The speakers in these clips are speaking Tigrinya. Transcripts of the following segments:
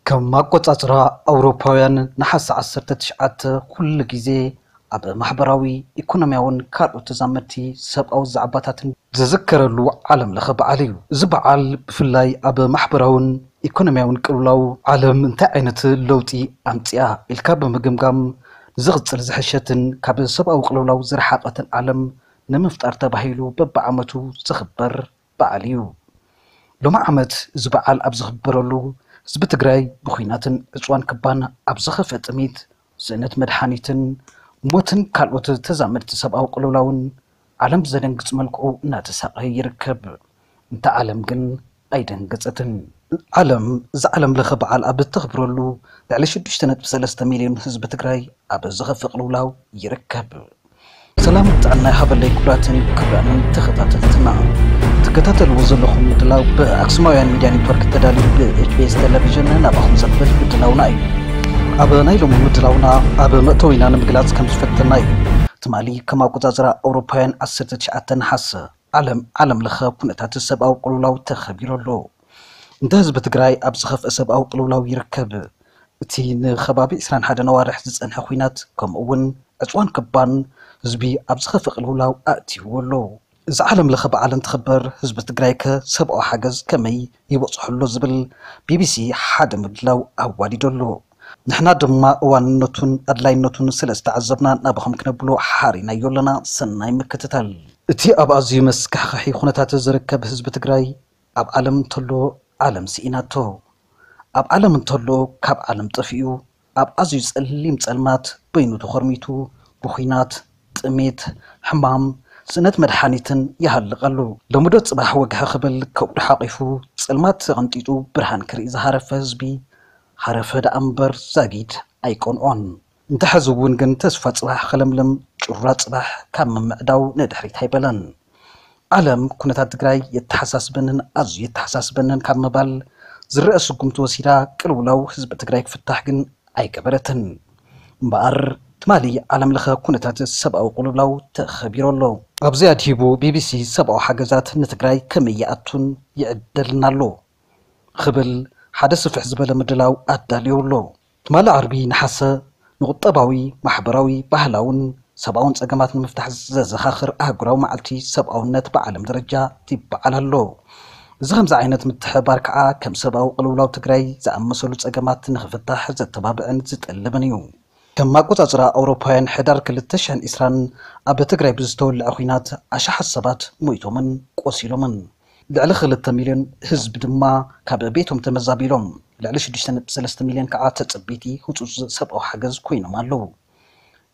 ከም ኣቆጻጽራ ኣውሮፓውያን፣ ነሓሰ ዓሰርተ ትሽዓተ ኩሉ ግዜ ኣብ ማሕበራዊ፣ ኢኮኖሚያውን ካልኦት ተዛመድቲ ሰብኣዊ ዛዕባታትን ዝዝከረሉ ዓለም ለኸ በዓል እዩ። እዚ በዓል ብፍላይ ኣብ ማሕበራውን ኢኮኖሚያውን ቅልውላው ዓለም እንታይ ዓይነት ለውጢ ኣምጽኣ ኢልካ ብምግምጋም፣ ንዝቕጽል ዝሕሸትን ካብ ሰብኣዊ ቅልውላው ዝረሓቐትን ዓለም ንምፍጣር ተባሂሉ በብዓመቱ ዝኽበር በዓል እዩ። ሎሚ ዓመት እዚ በዓል ኣብ ዝኽበረሉ፣ ህዝቢ ትግራይ ብኹናትን ዕፅዋን ክባን ኣብ ዝኸፍአ ጥሜት፣ ስእነት መድሓኒትን ሞትን ካልኦት ተዛመድቲ ሰብኣዊ ቅልውላውን ዓለም ብዘደንግፅ መልክዑ እናተሳቐየ ይርከብ። እንተ ዓለም ግን ኣይደንገፀትን። ዓለም እዚ ዓለም ለኸ በዓል ኣብ እተኽብረሉ፣ ልዕሊ ሽዱሽተ ነጥቢ ሰለስተ ሚልዮን ህዝቢ ትግራይ ኣብ ዝኸፍእ ቅልውላው ይርከብ። ሰላም ጥዕና ይሃበለይ ክቡራትን ክቡራንን ተኸታተልትና። ትከታተልዎ ዘለኹም ምድላው ብኣክሱማውያን ሚድያ ኔትወርክ ተዳልዩ ብኤች ቢ ኤስ ቴሌቪዥን ናባኹም ዘብል ምድላውና እዩ። ኣብ ናይ ሎሚ ምድላውና ኣብ መእተዊና ንምግላጽ ከም ዝፈተና እዩ። ትማሊ ከም ኣቆጻጽራ ኣውሮፓውያን ዓሰርተ ትሽዓተ ነሓሰ ዓለም ዓለም ለኸ ኩነታት ሰብኣዊ ቅልውላው ተኸቢሩ ኣሎ። እንተ ህዝቢ ትግራይ ኣብ ዝኸፍአ ሰብኣዊ ቅልውላው ይርከብ። እቲ ንኸባቢ ዕስራን ሓደን ኣዋርሕ ዝጸንሐ ኹናት፣ ከምኡ እውን ዕጽዋን ክባን ህዝቢ ኣብ ዝኸፍእ ቅልውላው ኣእትይዎ ኣሎ። እዚ ዓለም ለኸ በዓል እንትኽበር፣ ህዝቢ ትግራይ ከ ሰብኣዊ ሓገዝ ከመይ ይበጽሖ ኣሎ ዝብል ቢ ቢ ሲ ሓደ ምድላው ኣዋዲዱ ኣሎ። ንሕና ድማ እዋንነቱን ኣድላይነቱን ስለ ዝተዓዘብና ናባኹም ክነብሎ ሓሪናዮ ኣለና። ሰናይ ምክትታል። እቲ ኣብ ኣዝዩ መስካሕካሒ ኩነታት ዝርከብ ህዝቢ ትግራይ፣ ኣብ ዓለም እንተሎ ዓለም ስኢናቶ፣ ኣብ ዓለም እንተሎ ካብ ዓለም ጠፊኡ፣ ኣብ ኣዝዩ ጸሊም ጸልማት በይኑ ተኾርሚቱ፣ ብኹናት፣ ጥሜት፣ ሕማም፣ ስእነት መድሓኒትን ይሃልቕ ኣሎ። ሎሚ ዶ ጽባሕ ወግሐ ክብል ከብዱ ሓቒፉ፣ ጸልማት ተቐንጢጡ ብርሃን ክርኢ ዝሃረፈ ህዝቢ፣ ሃረፈ ደኣ እምበር ዛጊድ ኣይቀንዖን። እንተ ሕዚ እውን ግን ተስፋ ጽባሕ ክለምልም፣ ጭራ ጽባሕ ካብ ምምዕዳው ንድሕሪት ኣይበለን። ዓለም ኩነታት ትግራይ የተሓሳስበንን ኣዝዩ የተሓሳስበንን ካብ ምባል ዝረአ ስጉምቲ ወሲዳ፣ ቅልውላው ህዝቢ ትግራይ ክፍታሕ ግን ኣይገበረትን። እምበኣር፣ ትማሊ ዓለም ለኸ ኩነታት ሰብኣዊ ቅልውላው ተኸቢሩ ኣሎ። ኣብዚ ኣድሂቡ ቢ ቢ ሲ ሰብኣዊ ሓገዛት ንትግራይ ከመይ ይኣቱን ይዕደልን ኣሎ ክብል ሓደ ስፍሕ ዝበለ ምድላው ኣዳልዩ ኣሎ። ትማሊ ዓርቢ ነሓሰ ንቁጠባዊ፣ ማሕበራዊ፣ ባህላውን ሰብኣውን ጸገማት ንምፍታሕ ዘዘኻኽር ኣህጉራዊ መዓልቲ ሰብኣውነት ብዓለም ደረጃ ይበዓል ኣሎ። እዚ ከምዚ ዓይነት ምትሕብባር ከኣ ከም ሰብኣዊ ቅልውላው ትግራይ ዝኣመሰሉ ጸገማት ንኽፍታሕ ዘተባብዕን ዝጠልብን እዩ። ከም ኣቆጻጽራ ኣውሮፓውያን ሕዳር ክልተ ሽሕን ዕስራን ኣብ ትግራይ ብዝተወልዐ ኹናት ኣሽሓት ሰባት ሞይቶምን ቆሲሎምን። ልዕሊ ክልተ ሚልዮን ህዝቢ ድማ ካብ ቤቶም ተመዛቢሎም። ልዕሊ ሽዱሽተ ነጥቢ ሰለስተ ሚልዮን ከዓ ተጸበይቲ ህጹጽ ሰብኣዊ ሓገዝ ኮይኖም ኣለዉ።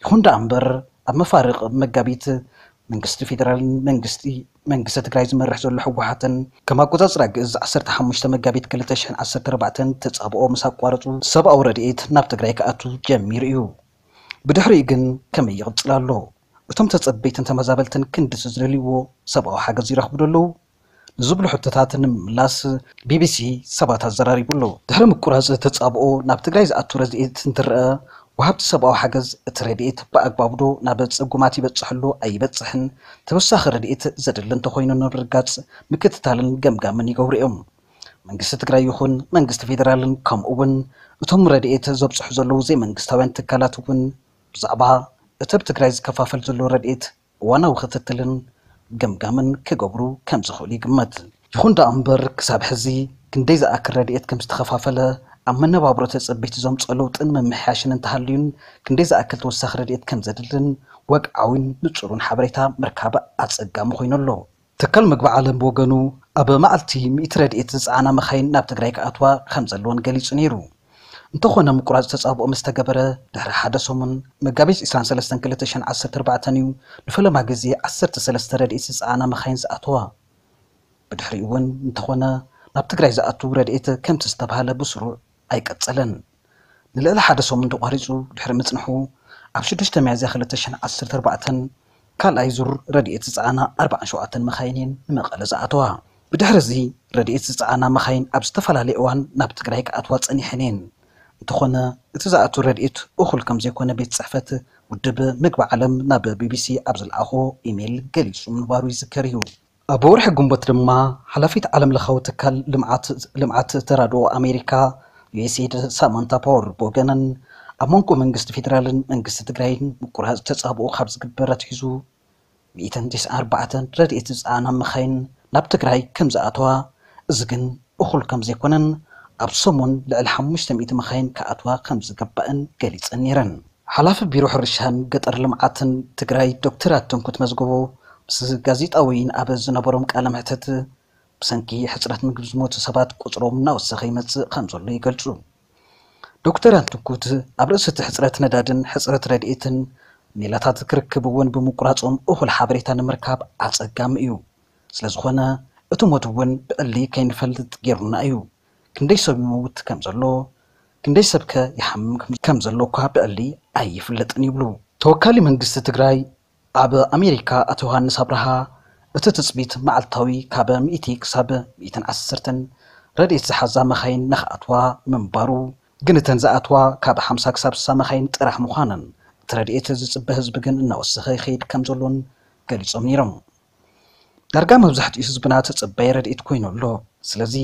ይኹን ደኣ እምበር፣ ኣብ መፋርቕ መጋቢት መንግስቲ ፌደራልን መንግስቲ መንግስቲ ትግራይ ዝመርሕ ዘሎ ህወሓትን ከም ኣቆጻጽራ ግእዝ ዓሰርተ ሓሙሽተ መጋቢት ክልተ ሽሕን ዓሰርተ ኣርባዕተን ተጻብኦ ምስ ኣቋረጹ፣ ሰብኣዊ ረድኤት ናብ ትግራይ ክኣቱ ጀሚሩ እዩ። ብድሕሪኡ ግን ከመይ ይቕጽል ኣሎ? እቶም ተጸበይትን ተመዛበልትን ክንድቲ ዝደልይዎ ሰብኣዊ ሓገዝ ይረኽቡ ዶ ኣለዉ? ንዝብሉ ሕቶታት ንምምላስ ቢ ቢ ሲ ሰባት ኣዘራሪቡ ኣሎ። ድሕሪ ምቁራጽ ተጻብኦ ናብ ትግራይ ዝኣቱ ረድኤት እንትረአ፣ ወሃብቲ ሰብኣዊ ሓገዝ እቲ ረድኤት ብኣግባቡ ዶ ናብ ጽጉማት ይበጽሕ ኣሎ ኣይበጽሕን፣ ተወሳኺ ረድኤት ዘድሊ እንተኾይኑ ንምርግጋጽ ምክትታልን ገምጋምን ይገብሩ እዮም። መንግስቲ ትግራይ ይኹን መንግስቲ ፌደራልን ከምኡ እውን እቶም ረድኤት ዘብጽሑ ዘለዉ ዘይመንግስታውያን ትካላት እውን ብዛዕባ እቲ ኣብ ትግራይ ዝከፋፈል ዘሎ ረድኤት እዋናዊ ክትትልን ገምጋምን ክገብሩ ከም ዝኽእሉ ይግመት። ይኹን ደኣ እምበር፣ ክሳብ ሕዚ ክንደይ ዝኣክል ረድኤት ከም ዝተኸፋፈለ፣ ኣብ መነባብሮ ተጸበይቲ ዘምጽኦ ለውጥን ምምሕያሽን እንተሃልዩን፣ ክንደይ ዝኣክል ተወሳኺ ረድኤት ከም ዘድልን ወግዓዊን ንጹርን ሓበሬታ ምርካብ ኣጸጋሚ ኮይኑ ኣሎ። ትካል መግቢ ዓለም ብወገኑ፣ ኣብ መዓልቲ ሚእቲ ረድኤት ዝጸዓና መኻይን ናብ ትግራይ ክኣትዋ ከም ዘለወን ገሊጹ ነይሩ። እንተኾነ፣ ምቁራጽ ተጻብኦ ምስ ተገበረ ድሕሪ ሓደ ሰሙን፣ መጋቢት ዕስራን ሰለስተን ክልተ ሽሕን ዓሰርተ ኣርባዕተን እዩ ንፈለማ ግዜ ዓሰርተ ሰለስተ ረድኤት ዝጸዓና መኻይን ዝኣተዋ። ብድሕሪኡ እውን እንተኾነ፣ ናብ ትግራይ ዝኣቱ ረድኤት ከምቲ ዝተባህለ ብስሩዕ ኣይቀጸለን። ንልዕሊ ሓደ ሰሙን ተቋሪጹ ድሕሪ ምጽንሑ፣ ኣብ ሽዱሽተ ሚያዝያ ክልተ ሽሕን ዓሰርተ ኣርባዕተን ካልኣይ ዙር ረድኤት ዝጸዓና ኣርባዓን ሸውዓተን መኻይን እየን ንመቐለ ዝኣተዋ። ብድሕሪ እዚ፣ ረድኤት ዝጸዓና መኻይን ኣብ ዝተፈላለየ እዋን ናብ ትግራይ ክኣትዋ ጸኒሐን እየን። እንተኾነ፣ እቲ ዝኣቱ ረድኤት እኹል ከም ዘይኮነ ቤት ጽሕፈት ውድብ ምግቢ ዓለም ናብ ቢ ቢ ሲ ኣብ ዝለኣኾ ኢሜይል ገሊጹ ምንባሩ ይዝከር እዩ። ኣብ ወርሒ ግንቦት ድማ፣ ሓላፊት ዓለም ለኻዊ ትካል ልምዓት፣ ልምዓት ተራድኦ ኣሜሪካ ዩኤስኤድ ሳማንታ ፓወር ብወገነን፣ ኣብ መንጎ መንግስቲ ፌዴራልን መንግስቲ ትግራይን ምቁራፅ ተፃብኦ ካብ ዝግበር ኣትሒዙ፣ ሚእትን ተስዓን ኣርባዕተን ረድኤት ዝፀዓና መኻይን ናብ ትግራይ ከም ዝኣተዋ፣ እዚ ግን እኹል ከም ዘይኮነን ኣብ ሰሙን ልዕሊ ሓሙሽተ ሚእቲ መኻይን ክኣትዋ ከም ዝግባእን ገሊፀን ነይረን። ሓላፊ ቢሮ ሕርሻን ገጠር ልምዓትን ትግራይ ዶክተር ኣትንኩት መዝገቦ ምስ ጋዜጣ ወይን ኣብ ዝነበሮም ቃለ መሕተት፣ ብሰንኪ ሕፅረት ምግቢ ዝሞቱ ሰባት ቁፅሮም እናወሰኸ ይመፅእ ከም ዘሎ ይገልፁ። ዶክተር ኣትንኩት ኣብ ርእሲ እቲ ሕፅረት ነዳድን ሕፅረት ረድኤትን ሜላታት ክርክብ እውን ብምቁራፆም እኹል ሓበሬታ ንምርካብ ኣፀጋሚ እዩ። ስለዝኾነ እቲ ሞት እውን ብዕሊ ከይንፈልጥ ገይሩና እዩ። ክንደይ ሰብ ይመውት ከም ዘሎ፣ ክንደይ ሰብ ከ ይሓምም ከም ዘሎ እኳ ብዕሊ ኣይፍለጥን ይብሉ። ተወካሊ መንግስቲ ትግራይ ኣብ ኣሜሪካ ኣቶ ዮሃንስ ኣብርሃ፣ እቲ ትፅቢት መዓልታዊ ካብ ሚእቲ ክሳብ ሚእትን ዓሰርተን ረድኤት ዝሓዛ መኻይን ንኽኣትዋ ምንባሩ፣ ግን እተን ዝኣትዋ ካብ ሓምሳ ክሳብ ስሳ መኻይን ጥራሕ ምዃነን፣ እቲ ረድኤት ዝፅበ ህዝቢ ግን እናወሰኸ ይኸይድ ከም ዘሎን ገሊፆም ነይሮም። ዳርጋ መብዛሕትኡ ህዝብና ተፀባይ ረድኤት ኮይኑ ኣሎ። ስለዚ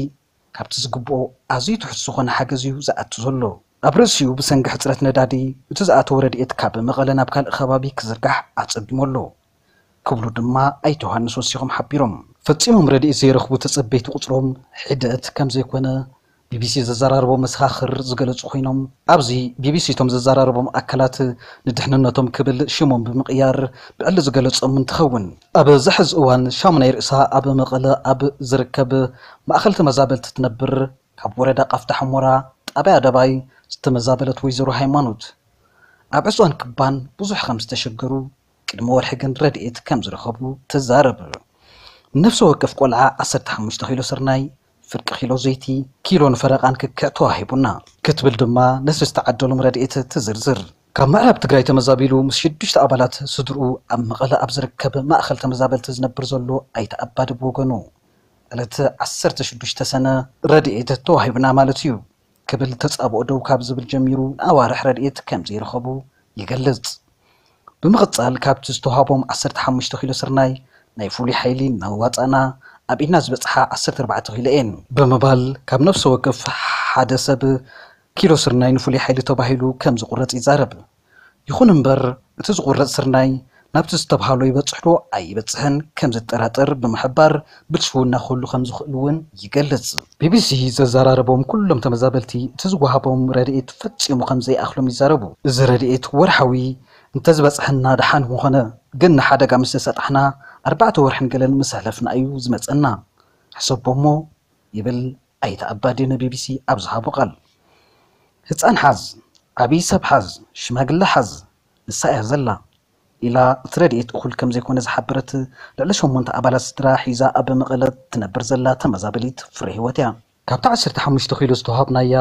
ካብቲ ዝግብኦ ኣዝዩ ትሑት ዝኾነ ሓገዝ እዩ ዝኣቱ ዘሎ። ኣብ ርእሲኡ ብሰንኪ ሕፅረት ነዳዲ እቲ ዝኣተወ ረድኤት ካብ መቐለ ናብ ካልእ ከባቢ ክዝርጋሕ ኣፀጊሙ ኣሎ ክብሉ ድማ ኣይተ ዮሃንስ ወሲኾም ሓቢሮም። ፈፂሞም ረድኤት ዘይረኽቡ ተፀበይቲ ቁፅሮም ሒደት ከም ዘይኮነ ቢቢሲ ዘዘራረቦ መሰኻኽር ዝገለፁ ኮይኖም፣ ኣብዚ ቢቢሲ እቶም ዘዘራረቦም ኣካላት ንድሕንነቶም ክብል ሽሞም ብምቕያር ብዕሊ ዝገለፆም እንትኸውን፣ ኣብዚ ሕዚ እዋን ሻሙናይ ርእሳ ኣብ መቐለ ኣብ ዝርከብ ማእኸል ተመዛበልቲ ትነብር ካብ ወረዳ ቃፍታ ሑመራ ጣብያ ኣደባይ ዝተመዛበለት ወይዘሮ ሃይማኖት፣ ኣብ ዕፅዋን ክባን ብዙሕ ከም ዝተሸገሩ፣ ቅድሚ ወርሒ ግን ረድኤት ከም ዝረኸቡ ትዛረብ። ንነፍሲ ወከፍ ቆልዓ ዓሰርተ ሓሙሽተ ኪሎ ስርናይ፣ ፍርቂ ኪሎ ዘይቲ፣ ኪሎን ፈረቓን ክክዕ ተዋሂቡና ክትብል ድማ ነቲ ዝተዓደሎም ረድኤት ትዝርዝር። ካብ ምዕራብ ትግራይ ተመዛቢሉ ምስ ሽዱሽተ ኣባላት ስድርኡ ኣብ መቐለ ኣብ ዝርከብ ማእኸል ተመዛበልቲ ዝነብር ዘሎ ኣይተ ኣባዲ ብወገኑ፣ ዕለት ዓሰርተ ሽዱሽተ ሰነ ረድኤት ተዋሂቡና ማለት እዩ ክብል ተጻብኦ ደው ካብ ዝብል ጀሚሩ ንኣዋርሕ ረድኤት ከም ዘይረኸቡ ይገልጽ። ብምቕጻል ካብቲ ዝተዋሃቦም ዓሰርተ ሓሙሽተ ኪሎ ስርናይ ናይ ፍሉይ ሓይሊ እናዋጻእና ኣብ ኢድና ዝበጽሓ ዓሰርተ ኣርባዕተ ኪሎ እየን ብምባል ካብ ነፍሲ ወከፍ ሓደ ሰብ ኪሎ ስርናይ ንፍሉይ ሓይሊ ተባሂሉ ከም ዝቑረጽ ይዛረብ። ይኹን እምበር እቲ ዝቑረጽ ስርናይ ናብቲ ዝተብሃሎ ይበጽሕ ዶ ኣይበጽሕን ከም ዘጠራጥር ብምሕባር ብልሽውና ክህሉ ከም ዝኽእል እውን ይገልጽ። ቢቢሲ ዘዘራረቦም ኩሎም ተመዛበልቲ እቲ ዝወሃቦም ረድኤት ፈጺሙ ከም ዘይኣኽሎም ይዛረቡ። እዚ ረድኤት ወርሓዊ እንተዝበጽሐና ደሓን ምኾነ፣ ግን ንሓደጋ ምስ ተሰጣሕና ኣርባዕተ ወርሕን ገለን ምስ ኣሕለፍና እዩ ዝመጸና። ሕሰቦ እሞ ይብል ኣይተ ኣባዲ ንቢቢሲ ኣብ ዝሃቦ ቃል። ህጻን ሓዝ፣ ዓብዪ ሰብ ሓዝ፣ ሽማግለ ሓዝ፣ ንሳ እያ ዘላ ኢላ እቲ ረድኤት እኹል ከም ዘይኮነ ዝሓበረት ልዕሊ ሸሞንተ ኣባላት ስድራ ሒዛ ኣብ መቐለ ትነብር ዘላ ተመዛበሊት ፍረ ህይወት እያ። ካብታ ዓሰርተ ሓሙሽተ ኪሎ ዝተዋሃብናያ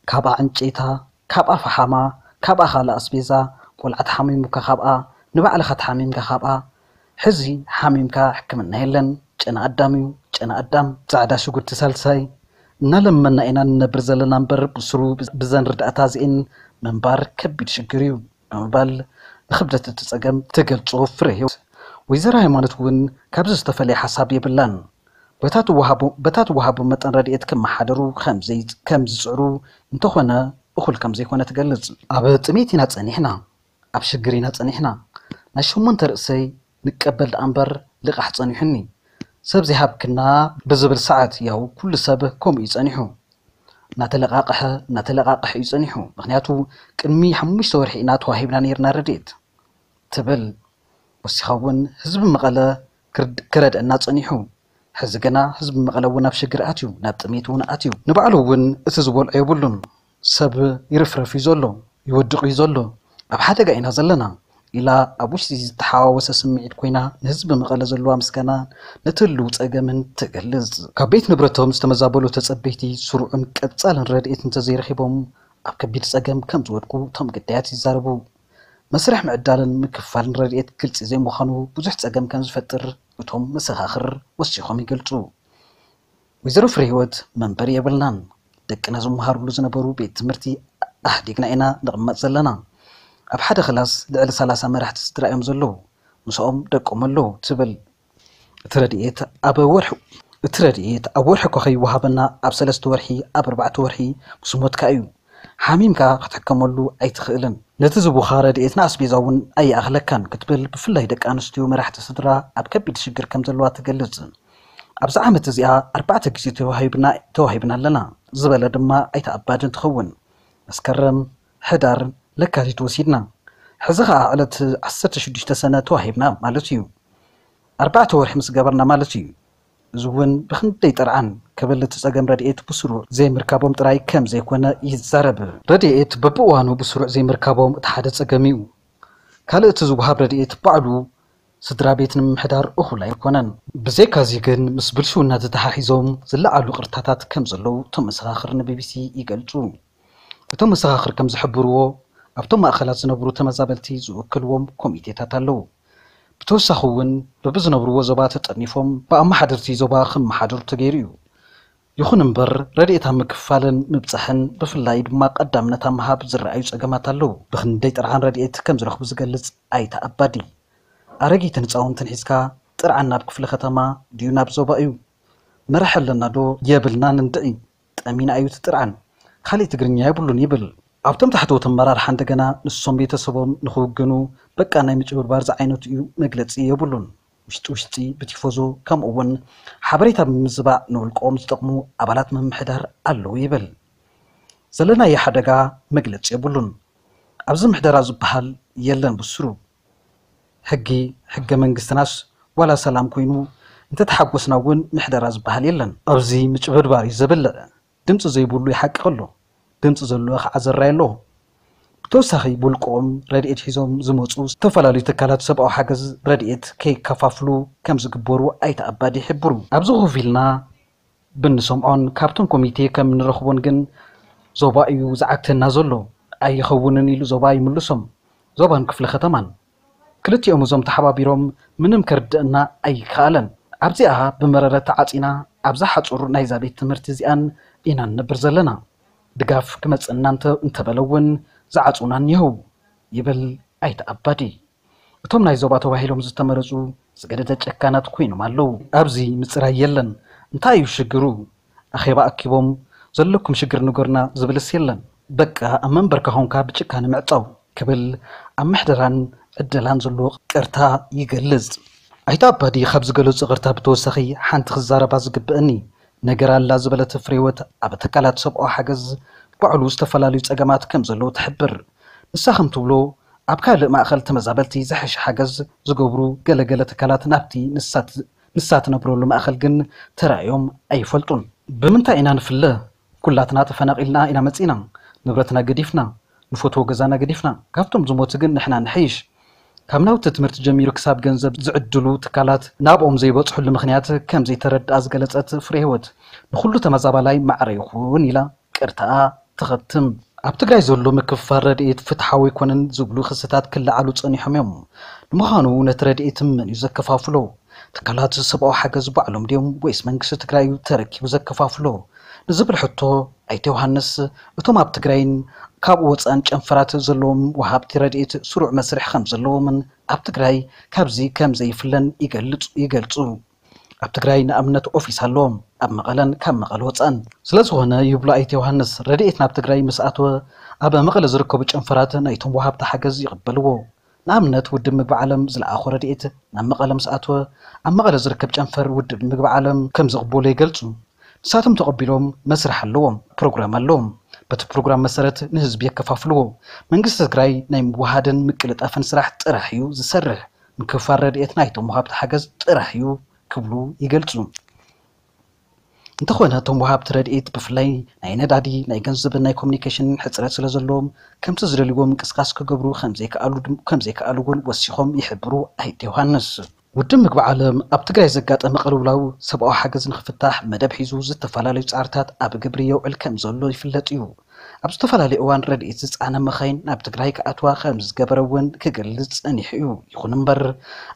ካብኣ ዕንጨይታ፣ ካብኣ ፈሓማ፣ ካብኣ ካልእ ኣስቤዛ፣ ቆልዓ ተሓሚሙካ ካብኣ፣ ንባዕልኻ ተሓሚምካ ካብኣ፣ ሕዚ ሓሚምካ ሕክምና የለን፣ ጨና ኣዳም እዩ፣ ጨና ኣዳም። ጻዕዳ ሽጉርቲ ሳልሳይ፣ እናለመና ኢና ንነብር ዘለና እምበር ብስሩ ብዘን ርዳእታ እዚኤን ምንባር ከቢድ ሽግር እዩ ብምባል ንኽብደት እቲ ጸገም ትገልጾ ፍረ ህይወት። ወይዘሮ ሃይማኖት እውን ካብዚ ዝተፈለየ ሓሳብ የብላን። በታ ትወሃቦ መጠን ረድኤት ክመሓደሩ ከም ዝጽዕሩ እንተኾነ እኹል ከም ዘይኮነ ትገልጽ። ኣብ ጥሜት ኢና ጸኒሕና፣ ኣብ ሽግር ኢና ጸኒሕና። ናይ ሸሞንተ ርእሰይ ንቀበል ደኣ እምበር ልቓሕ ጸኒሑኒ። ሰብ ዘይሃብክና ብዝብል ሰዓት ያው ኩሉ ሰብ ከምኡ እዩ ጸኒሑ። እናተለቓቐሐ እናተለቓቐሐ እዩ ጸኒሑ። ምኽንያቱ ቅድሚ ሓሙሽተ ወርሒ ኢና ተዋሂብና ነይርና ረድኤት ትብል። ወሲኻ እውን ህዝቢ መቐለ ክረድአና ጸኒሑ። ሕዚ ግና ህዝቢ መቐለ እውን ኣብ ሽግር ኣትዩ፣ ናብ ጥሜት እውን ኣትዩ። ንባዕሉ እውን እቲ ዝበልዖ የብሉን። ሰብ ይርፍረፍ እዩ ዘሎ፣ ይወድቕ እዩ ዘሎ። ኣብ ሓደጋ ኢና ዘለና ኢላ ኣብ ውሽጢ ዝተሓዋወሰ ስምዒት ኮይና ንህዝቢ መቐለ ዘለዋ ምስጋና ነቲ ህልው ጸገምን ትገልጽ። ካብ ቤት ንብረቶም ዝተመዛበሉ ተጸበይቲ ስሩዕን ቀጻልን ረድኤት እንተዘይረኺቦም ኣብ ከቢድ ጸገም ከም ዝወድቁ እቶም ግዳያት ይዛረቡ። መስርሕ ምዕዳልን ምክፋልን ረድኤት ግልጺ ዘይምዃኑ ብዙሕ ጸገም ከም ዝፈጥር እቶም መሰኻኽር ወሲኾም ይገልጹ። ወይዘሮ ፍሬህይወት መንበሪ የብልናን፣ ደቅና ዝመሃርሉ ዝነበሩ ቤት ትምህርቲ ኣሕዲግና ኢና ንቕመጥ ዘለና። ኣብ ሓደ ክላስ ልዕሊ ሰላሳ መራሕቲ ስድራ እዮም ዘለዉ፣ ምስኦም ደቆም ኣለዉ ትብል። እቲ ረድኤት ኣብ ወርሒ እቲ ረድኤት ኣብ ወርሒ እኳ ከይወሃበና ኣብ ሰለስተ ወርሒ ኣብ ኣርባዕተ ወርሒ ምስ ሞትካ እዩ። ሓሚምካ ክትሕከመሉ ኣይትኽእልን። ነቲ ዝቡኻ ረድኤት ንኣስቤዛ እውን ኣይኣኽለካን ክትብል ብፍላይ ደቂ ኣንስትዮ መራሕቲ ስድራ ኣብ ከቢድ ሽግር ከም ዘለዋ ትገልጽ። ኣብዚ ዓመት እዚኣ ኣርባዕተ ግዜ ተዋሂብና ተዋሂብና ኣለና ዝበለ ድማ ኣይተ ኣባዲ እንትኸውን መስከረም፣ ሕዳር፣ ለካቲት ወሲድና። ሕዚ ኸዓ ዕለት ዓሰርተ ሽዱሽተ ሰነ ተዋሂብና ማለት እዩ። ኣርባዕተ ወርሒ ምስ ገበርና ማለት እዩ። እዚ እውን ብኽንደይ ጥርዓን ክብል እቲ ጸገም ረድኤት ብስሩዕ ዘይምርካቦም ጥራይ ከም ዘይኮነ ይዛረብ። ረድኤት በብእዋኑ ብስሩዕ ዘይምርካቦም እቲ ሓደ ጸገም እዩ። ካልእ እቲ ዝወሃብ ረድኤት ባዕሉ ስድራ ቤት ንምምሕዳር እኹል ኣይኮነን። ብዘይካዚ ግን ምስ ብልሽውና ተተሓሒዞም ዝለዓሉ ቅርታታት ከም ዘለዉ እቶም መሰኻኽር ንቢቢሲ ይገልጹ። እቶም መሰኻኽር ከም ዝሕብርዎ ኣብቶም ማእኸላት ዝነብሩ ተመዛበልቲ ዝውክልዎም ኮሚቴታት ኣለዉ። ብተወሳኺ እውን በብዝነብርዎ ዞባ ተጠርኒፎም ብኣመሓደርቲ ዞባ ክመሓደሩ ተገይሩ እዩ። ይኹን እምበር ረድኤት ኣብ ምክፋልን ምብፃሕን ብፍላይ ድማ ቀዳምነት ኣብ ምሃብ ዝረኣዩ ፀገማት ኣለዉ። ብኽንደይ ጥርዓን ረድኤት ከም ዝረኽቡ ዝገልፅ ኣይተ ኣባዲ ኣረጊትን ህፃውንትን ሒዝካ ጥርዓን ናብ ክፍለ ከተማ ድዩ ናብ ዞባ እዩ መራሕ ኣለና ዶ የብልናን እንድዒ ጠሚና እዩ እቲ ጥርዓን። ካሊእ ትግርኛ የብሉን ይብል። ኣብቶም ታሕተዎት ኣመራርሓ እንደገና ንሶም ቤተሰቦም ንኽውግኑ በቃ ናይ ምጭብርባር ዝዓይነቱ እዩ መግለፂ የብሉን። ውሽጢ ውሽጢ ብቲፎዞ ከምኡ እውን ሓበሬታ ብምዝባዕ ንውልቆም ዝጠቕሙ ኣባላት ምምሕዳር ኣለዉ ይብል። ዘለናዮ ሓደጋ መግለፂ የብሉን። ኣብዚ ምሕደራ ዝበሃል የለን ብስሩ። ሕጊ፣ ሕገ መንግስትናስ ዋላ ሰላም ኮይኑ እንተተሓጎስና እውን ምሕደራ ዝበሃል የለን። ኣብዚ ምጭብርባር እዩ ዘብልዕ። ድምፂ ዘይብሉ ይሓቅቕ ኣሎ። ድምፂ ዘለዎ ከዓ ዘራይ ኣሎ። ብተወሳኺ ብውልቆም ረድኤት ሒዞም ዝመፁ ዝተፈላለዩ ትካላት ሰብኣዊ ሓገዝ ረድኤት ከይከፋፍሉ ከም ዝግበሩ ኣይተ ኣባዲ ይሕብሩ። ኣብዚ ኮፍ ኢልና ብንሰምዖን ካብቶም ኮሚቴ ከም ንረኽቦን ግን ዞባ እዩ ዝዓግተና ዘሎ። ኣይኸውንን ኢሉ ዞባ ይምልሶም። ዞባን ክፍለ ከተማን ክልቲኦም እዞም ተሓባቢሮም ምንም ከርድእና ኣይከኣለን። ኣብዚኣ ብመረረ ተዓፂና ኣብዛ ሓፁር ናይዛ ቤት ትምህርቲ እዚኣን ኢና ንነብር ዘለና። ድጋፍ ክመፅእና እንተ- እንተበለ እውን ዝዓፁና እኒሀው ይብል ኣይተ ኣባዲ። እቶም ናይ ዞባ ተባሂሎም ዝተመረፁ ዝገደደ ጨካናት ኮይኖም ኣለዉ። ኣብዚ ምፅራይ የለን። እንታይ እዩ ሽግሩ? ኣኼባ ኣኪቦም ዘለኩም ሽግር ንገሩና ዝብልስ የለን። በቃ ኣብ መንበርካ ኾንካ ብጭካነ ምዕፃው ክብል ኣብ ምሕደራን ዕደላን ዘሎ ቅርታ ይገልጽ። ኣይተ ኣባዲ ካብ ዝገለጹ ቅርታ ብተወሳኺ ሓንቲ ክዛረባ ዝግብእኒ ነገር ኣላ ዝበለት ፍሬወት ኣብ ትካላት ሰብኣዊ ሓገዝ ባዕሉ ዝተፈላለዩ ጸገማት ከም ዘለዉ ትሕብር። ንሳ ከም ትብሎ ኣብ ካልእ ማእኸል ተመዛበልቲ ዝሐሸ ሓገዝ ዝገብሩ ገለገለ ትካላት ናብቲ ንሳ ት- ንሳ ትነብረሉ ማእኸል ግን ተራእዮም ኣይፈልጡን። ብምንታይ ኢና ንፍለ? ኩላትና ተፈናቒልና ኢና መፂና። ንብረትና ገዲፍና፣ ንፈትዎ ገዛና ገዲፍና። ካብቶም ዝሞቱ ግን ንሕና ንሐይሽ። ካብ ናውቲ ትምህርቲ ጀሚሩ ክሳብ ገንዘብ ዝዕድሉ ትካላት ናብኦም ዘይበፅሑሉ ምኽንያት ከም ዘይተረድኣ ዝገለፀት ፍሬ ህይወት ንኹሉ ተመዛባላይ ማዕረ ይኹን ኢላ ቅርታኣ ትኸትም። ኣብ ትግራይ ዘሎ ምክፍፋል ረድኤት ፍትሓዊ ኣይኮነን ዝብሉ ክስታት ክለዓሉ ጸኒሖም እዮም። ንምዃኑ ነቲ ረድኤት መን እዩ ዘከፋፍሎ? ትካላት ሰብኣዊ ሓገዝ ባዕሎም ድዮም ወይስ መንግስቲ ትግራይ እዩ ተረኪቡ ዘከፋፍሎ? ንዝብል ሕቶ ኣይተ ዮሃንስ እቶም ኣብ ትግራይን ካብኡ ወፃእን ጨንፈራት ዘለዎም ወሃብቲ ረድኤት ስሩዕ መስርሕ ከም ዘለዎምን ኣብ ትግራይ ካብዚ ከም ዘይፍለን ይገልጹ ይገልጹ። ኣብ ትግራይ ንኣብነት ኦፊስ ኣለዎም ኣብ መቐለን ካብ መቐለ ወፃእን። ስለዝኾነ ይብሉ ኣይተ ዮሃንስ ረድኤት ናብ ትግራይ ምስ ኣተወ ኣብ መቐለ ዝርከቡ ጨንፈራት ናይቶም ወሃብቲ ሓገዝ ይቕበልዎ። ንኣብነት ውድብ ምግቢ ዓለም ዝለኣኾ ረድኤት ናብ መቐለ ምስ ኣተወ ኣብ መቐለ ዝርከብ ጨንፈር ውድብ ምግቢ ዓለም ከም ዝቕበሎ ይገልፁ። ንሳቶም ተቐቢሎም መስርሕ ኣለዎም፣ ፕሮግራም ኣለዎም። በቲ ፕሮግራም መሰረት ንህዝቢ የከፋፍልዎ። መንግስቲ ትግራይ ናይ ምውሃድን ምቅልጣፍን ስራሕ ጥራሕ እዩ ዝሰርሕ። ምክፍፋል ረድኤት ናይቶም ወሃብቲ ሓገዝ ጥራሕ እዩ ክብሉ ይገልፁ። እንተኾነ እቶም ወሃብቲ ረድኤት ብፍላይ ናይ ነዳዲ ናይ ገንዘብን ናይ ኮሚኒኬሽንን ሕፅረት ስለዘለዎም ከምቲ ዝደልይዎ ምንቅስቃስ ክገብሩ ከምዘይከኣሉ እውን ወሲኾም ይሕብሩ ኣይተ ዮሃንስ። ውድብ ምግቢ ዓለም ኣብ ትግራይ ዘጋጠመ ቅልውላው ሰብኣዊ ሓገዝ ንክፍታሕ መደብ ሒዙ ዝተፈላለዩ ፃዕርታት ኣብ ግብሪ የውዕል ከምዘሎ ይፍለጥ እዩ። ኣብ ዝተፈላለዩ እዋን ረድኤት ዝፀዓና መኻይን ናብ ትግራይ ክኣትዋ ከም ዝገበረ እውን ክገልፅ ፀኒሑ እዩ። ይኹን እምበር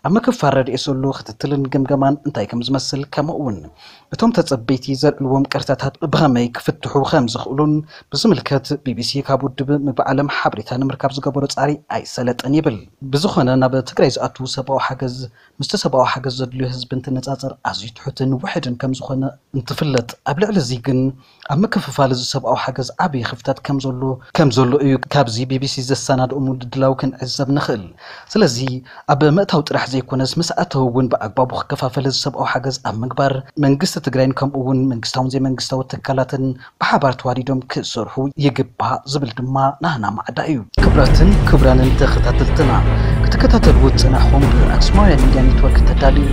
ኣብ ምክፋል ረድኤት ዘሎ ክትትልን ግምገማን እንታይ ከም ዝመስል፣ ከምኡ እውን እቶም ተፀበይቲ ዘልዕልዎም ቅርታታት ብኸመይ ክፍትሑ ከም ዝኽእሉን ብዝምልከት ቢቢሲ ካብ ውድብ ምግቢ ዓለም ሓበሬታ ንምርካብ ዝገበሮ ፃዕሪ ኣይሰለጠን ይብል። ብዝኾነ ናብ ትግራይ ዝኣቱ ሰብኣዊ ሓገዝ ምስቲ ሰብኣዊ ሓገዝ ዘድልዮ ህዝቢ እንትነፃፀር ኣዝዩ ትሑትን ውሕድን ከም ዝኾነ እንትፍለጥ፣ ኣብ ልዕሊ እዚ ግን ኣብ ምክፍፋል እዚ ሰብኣዊ ሓገዝ ዓብዪ ክፍተት ከም ዘሎ ከም ዘሎ እዩ ካብዚ ቢቢሲ ዘሰናድኦ ምድላው ክንዕዘብ ንኽእል። ስለዚ ኣብ ምእታው ጥራሕ ዘይኮነስ ምስ ኣተው እውን ብኣግባቡ ክከፋፈል እዚ ሰብኣዊ ሓገዝ ኣብ ምግባር መንግስቲ ትግራይን ከምኡ እውን መንግስታውን ዘይመንግስታዊ ትካላትን ብሓባር ተዋዲዶም ክሰርሑ ይግባእ ዝብል ድማ ናህና ማዕዳ እዩ። ክቡራትን ክቡራንን ተኸታተልትና፣ ክትከታተልዎ ዝጸናሕኩም ብኣክሱማውያን ሚድያ ኔትወርክ ተዳልዩ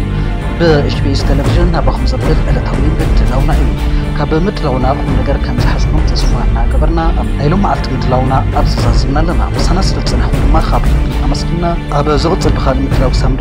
ብኤችቢኤስ ቴሌቪዥን ናባኹም ዘብል ዕለታዊ ምድላውና እዩ። ካብ ምድላውና ቁም ነገር ከም ዝሓዝኩም ተስፋ እናገበርና፣ ኣብ ናይ ሎም መዓልቲ ምድላውና ኣብዚ ዛዚምና ኣለና። ምሳና ስለ ዝጸናሕኩም ድማ ካብ ልቢ ኣመስግና። ኣብ ዝቕጽል ብኻልእ ምድላው ክሳብ